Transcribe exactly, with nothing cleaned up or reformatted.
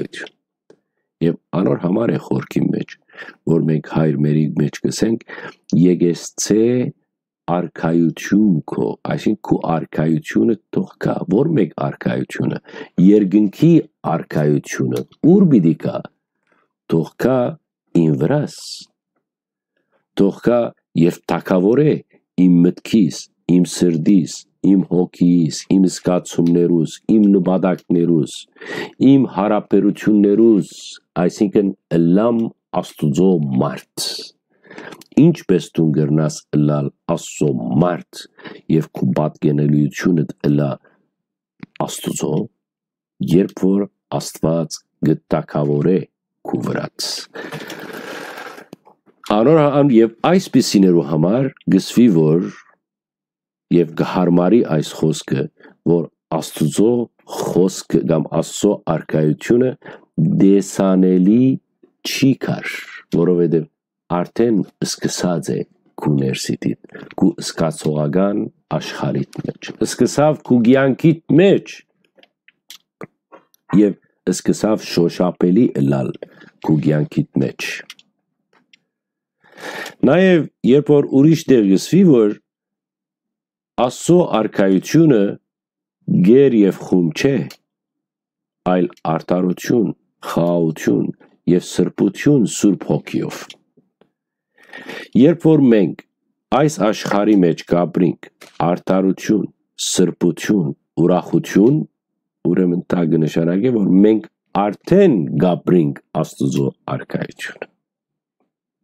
արքայութիւն։ Եւ անոր համար է խորքին մէջ, որ մենք հայրմերի մէջ կ'ըսենք, «Եկեղեցէ արքայութիւն քո», այսինքն՝ քու արքայութիւնը թող գայ։ Ո՞ր մէկ արքայութիւնը։ Երկնքի արքայութիւնը ո՞ւր պիտի գայ։ Թող գայ իմ վրաս, թող գայ եւ թագաւորէ իմ մտքիս, իմ սրտիս, իմ հոգիս, իմ զգացումներուս, իմ նպատակներուս, իմ հարաբերութիւններուս, այսինքն՝ ըլլամ Աստուծոյ մարդ։ Ինչպէս դուն կրնաս ըլլալ Աստուծոյ մարդ եւ քու պատկերելիութիւնդ ըլլայ Աստուծոյ, երբ որ Աստուած կը թագաւորէ քու վրաց։ Անոր հա-, ան-, եւ այսպիսիներու համար կ'ըսուի, որ, եւ կը յարմարի այս խօսքը, որ Աստուծոյ խօսքը կամ Աստուծոյ արքայութիւնը տեսանելի չի կար, որովհետեւ արդէն սկսած է քու ներսիդիդ, քու զգացողական աշխարհիդ մէջ։ Սկսաւ քու կեանքիդ մէջ եւ սկսաւ շոշափելի ըլլալ քու կեանքիդ մէջ։ Նաեւ երբ որ ուրիշ տեղ կ'ըսուի, որ Աստուծոյ արքայութիւնը գեր եւ խում չէ, այլ արդարութիւն, խաղաղութիւն եւ սրբութիւն Սուրբ Հոգիով։ Երբ որ մենք այս աշխարհի մէջ կ'ապրինք արդարութիւն, սրբութիւն, ուրախութիւն, ուրեմն դա կը նշանակէ, որ մենք արդէն կ'ապրինք Աստուծոյ արքայութիւնը։